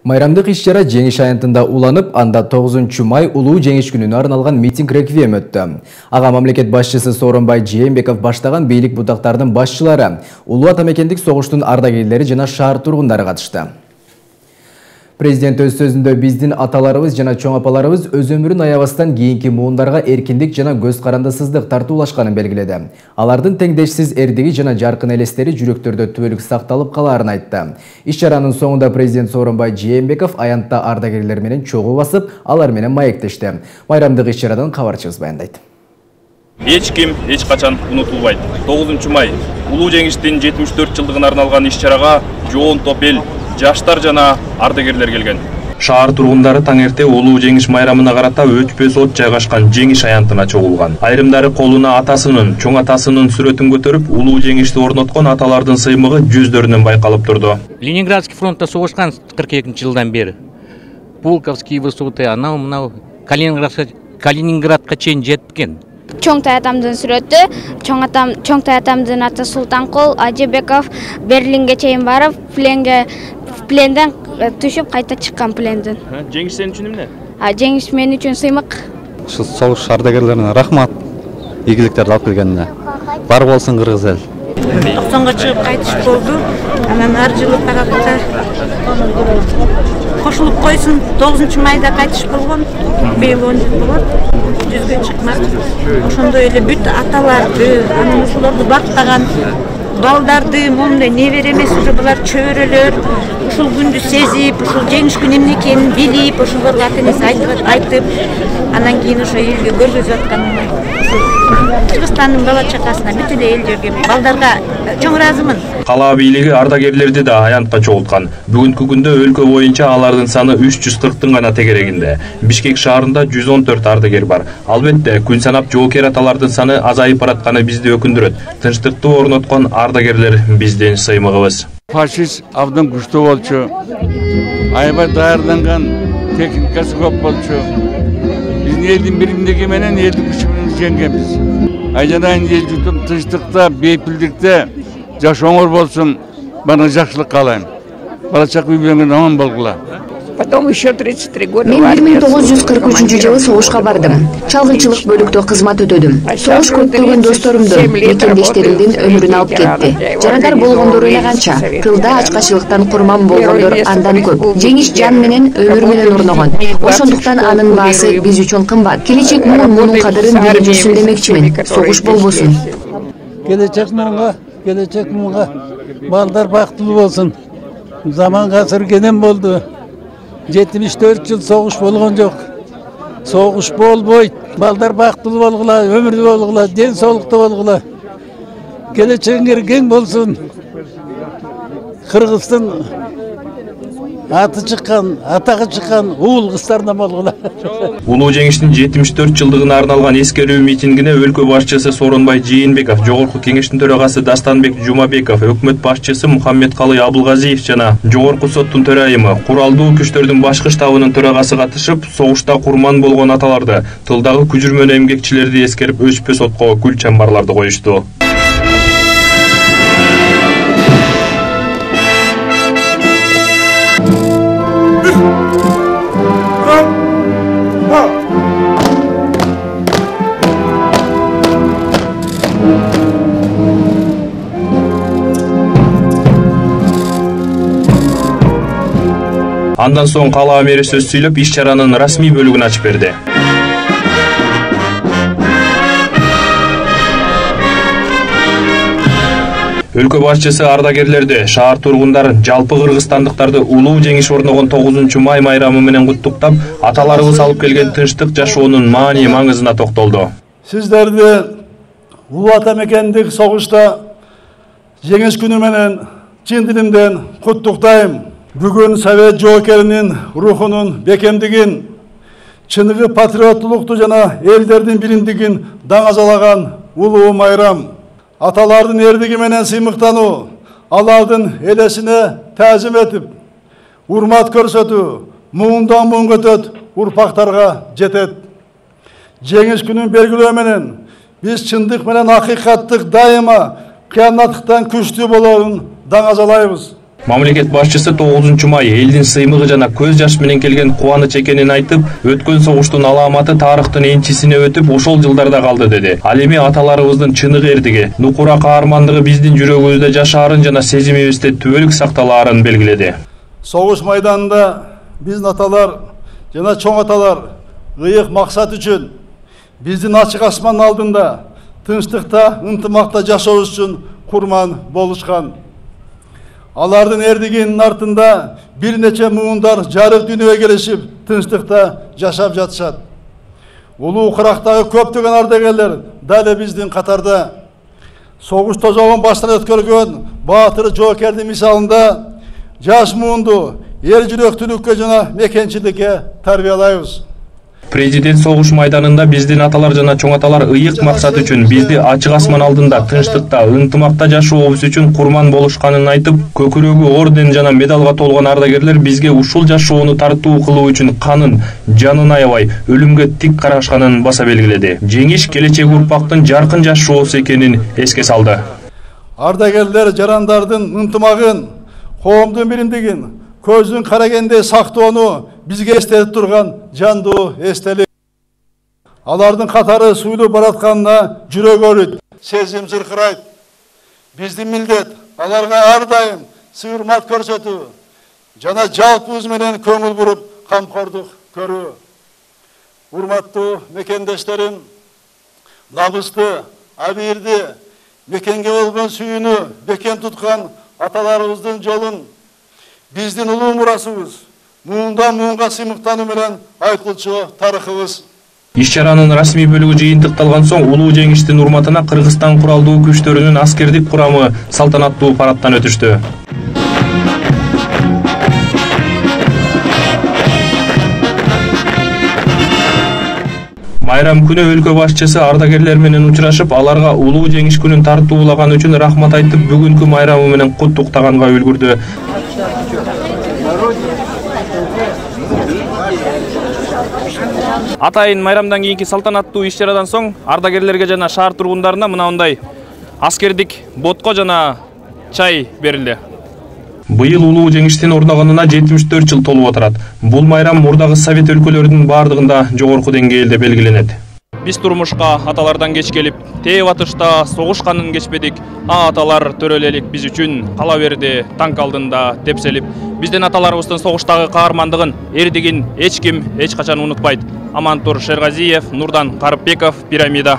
Майрамдык иш-чара жеңиш аянтында уланып, анда 9 май улуу жеңиш күнүнө арналган митинг реквием өттү. Ага мамлекет башчысы Сооронбай Жээнбеков баштаган бийлик бутактардын башчылары, улуу атамекендик согуштун ардагерлери жана шаар тургундары катышты. Президент өз сөзүндө биздин аталарыбыз жана чоң апаларыбыз өз өмүрүн аябастан кийинки муундарга эркиндик жана көз карандысыздык тартуулашканын белгиледи. Алардын теңдешсиз эрдиги жана жаркын элестери жүрөктөрдө түбөлүк сакталып калаарын айтты. Иш-чаранын соңунда президент Сооронбай Жээнбеков аянтта ардагерлер менен чогуу басып, алар менен маектешти. Майрамдык иш-чарадан кабарчыбыз баяндайт. Эч ким эч качан унутулбайт. 9 май улуу жеңиштин 74 жылдыгына арналган иш-чарага жоон топ эл, жаштар жана ардагерлер келген. Шаар тургундары таңерте улуу жеңиш майрамына карата өчпөс от жайгашкан жеңиш аянтына чогулган. Айрымдары колуна атасынын, чоң атасынын сүрөтүн көтөрүп, улуу жеңишти орноткон аталардын сыймыгы жүздөрүнөн байкалып турду. Ленинградский фронтта согушкан 42-жылдан бери. Пулковский высоты, анау Калининградка чейин жеткен. Чоң таятамдын сүрөтү, чоң таятамдын аты Султанкул Ажыбеков Берлинге чейин барып, пленден түшүп кайта чыккан пленден. Жеңиш сен үчүн эмне? Жеңиш мен үчүн сыймык. Ушу согуш ардагерлерине рахмат. Ийгиликтерди алып келгенине. Бар болсун кыргыз эл. 90-га чыгып кайтыш болду. Анан ар жылы тарапта кошулуп койсун. 9 майда кайтыш болгон. Быйыл 10 жыл болот. Жүзгө чыкмак. Ошондой эле бүт аталарды, анан ушуларды бактаган балдарды, мондай небере эмес, уже булар чөбөрөлөр. Ушул күндү сезип, ушул жеңиш күнү эмне экенин билип, ошолорго ата-энеси айтып, анан кийин ошо элге көргөзүп атканына, Кыргызстандын бала чакасына, бүт эле эл жерге, балдарга чоң ыраазымын. Кала бийлиги ардагерлерди да аянтка чогулткан. Бүгүнкү күндө өлкө боюнча алардын саны 340-тын гана тегерегинде. Бишкек шаарында 114 ардагер бар. Албетте, күн санап жоокер аталардын саны азайып баратканы бизди өкүндүрөт. Тынчтыкты орноткон ардагерлер биздин сыймыгыбыз. Фашист абдан күчтүү болчу. Аябай даярданган техникасы көп болчу. Биздин элдин биримдиги менен элдин күчү менен жеңгенбиз. Айжанайын эл жутум тынчтыкта, бейпилдикте жашооңор болсун, бана жакшылык каалайм. Бала чак үй-бүлөңөр аман болгула. Мен 1943-жылы согушка бардым. Чалгынчылык бөлүктө кызмат өтөдүм. Согуш көптөгөн досторумдун, мекендештеримдин өмүрүн алып кетти. Жарадар болгондор эле канча, тылда ачкачылыктан курман болгондор андан көп. Жеңиш жан менен, өмүр менен орногон. Ошондуктан анын баасы биз үчүн кымбат. Келечек мунун кадырын билип жүрсүн демекчимин. Согуш болбосун. Келечек мунга балдар бактылуу болсун. Заман гасыр кенен болду. 74 жыл согуш болгон жок. Согуш болбойт. Балдар бактылуу болгула, өмүрлүү болгула, ден соолуктуу болгула. Келечегиңер кең болсун. Кыргыздын аты чыккан, атагы чыккан уул кыздардан болгула. Улуу жеңиштин 74 жылдыгына арналган эскерүү митингине өлкө башчысы Сооронбай Жээнбеков, Жогорку кеңештин төрагасы Дастанбек Жумабеков, өкмөт башчысы Мухаммедкалый Абылгазиев жана Жогорку соттун төрайымы, куралдуу күчтөрдүн башкы штабынын төрагасы катышып, согушта курман болгон аталарды, тылдагы күжүрмөн эмгекчилерди эскерип, өчпөс отко гүл чамбарларды коюшту. Андан соң кала мэри сөз сүйлөп, иш-чаранын расмий бөлүгүн ачып берди. Өлкө башчысы ардагерлерди, шаар тургундарын, жалпы кыргызстандыктарды улуу жеңиш орногон 9 май майрамы менен куттуктап, аталарыбыз алып келген тынчтык жашоонун маани маңызына токтолду. Сиздерди улуу атамекендик согушта жеңиш күнү менен чын дилимден куттуктайм. Бүгүн Совет жоокеринин рухунун бекемдигин, чыныгы патриоттулукту жана элдердин биримдигин даңазалаган улуу майрам. Аталардын эрдиги менен сыймыктануу, алардын элесине таазим этип, урмат көрсөтүү, муундан муун өтөт, урпактарга жетет. Жеңиш күнүн белгилөө менен биз чындык менен акыйкаттык дайыма кыяматтыктан күчтүү болоорун даңазалайбыз. Мамлекет башчысы 9 май элдин сыймыгы жана көз жаш менен келген кубаныч экенин айтып, өткөн согуштун аламаты тарыхтын энчисине өтүп, ошол жылдарда калды деди. Ал эми аталарыбыздын чыныгы эрдиги, нукура каармандыгы биздин жүрөгүбүздө жашаарын жана сезимибизде түбөлүк сакталаарын белгиледи. Согуш майданында биздин аталар жана чоң аталар ыйык максат үчүн биздин ачык асман алдында тынчтыкта, ынтымакта жашообуз үчүн курман болушкан. Алардын эрдигинин артында бир нече муундар жарык дүйнөгө келишип, тынчтыкта жашап жатышат. Улуу кырактагы көптөгөн ардагерлер дал биздин катарда. Согуш тозогун баштан өткөргөн баатыр жоокердин мисалында жаш муунду эр жүрөктүүлүккө жана мекенчиликке тарбиялайбыз. Президент согуш майданында биздин аталар жана чоң аталар ыйык максат үчүн бизди ачык асман алдында тынчтыкта, ынтымакта жашообуз үчүн курман болушканын айтып, көкүрөгү орден жана медалга толгон ардагерлер бизге ушул жашоону тартуу кылуу үчүн канын, жанын аябай, өлүмгө тик карашканын баса белгиледи. Жеңиш келечек урпактын жаркын жашоосу экенин эске салды. Ардагерлер жарандардын ынтымагын, коомдун биримдигин, көздүн карагендей сактоону бизге эстетип турган жандуу эстелик. Алардын катары суйлуу баратканына жүрөк өрүт, сезим зыркырайт. Биздин милдет аларга ар дайым сый-урмат көрсөтүү жана жалпыбыз менен көңүл буруп камкордук көрүү. Урматтуу мекендештерим, намысты, абийирди, мекенге болгон сүйүүнү бекем туткан аталарыбыздын жолун биздин улуу мурасыбыз, муундан муунга сыймыктануу менен айткылчу тарыхыбыз. Иш-чаранын расмий бөлүгү жыйынтыкталган соң улуу жеңиштин урматына Кыргызстан куралдуу күчтөрүнүн аскердик курамы салтанаттуу парадтан өтүштү. Майрам күнү өлкө башчысы ардагерлер менен учурашып, аларга улуу жеңиш күнүн тартуулаган үчүн рахмат айтып, бүгүнкү майрамы менен куттуктаганга үлгүрдү. Атайын майрамдан кийинки салтанаттуу иш-чарадан соң ардагерлерге жана шаар тургундарына мындай аскердик ботко жана чай берилди. Быйыл улуу жеңиштин орногонуна 74 жыл толуп отурат. Бул майрам мурдагы совет өлкөлөрүнүн бардыгында жогорку деңгээлде белгиленет. Биз турмушка аталардан кеч келип, тээп атышта согушканын кечпедик. Аталар төрөлелик биз үчүн кала берди танк алдында тепселип. Биздин аталарыбыздын согуштагы каармандыгын, эрдигин эч ким эч качан унутпайт. Амантур Шергазиев, Нурдан Карыпбеков, Пирамида.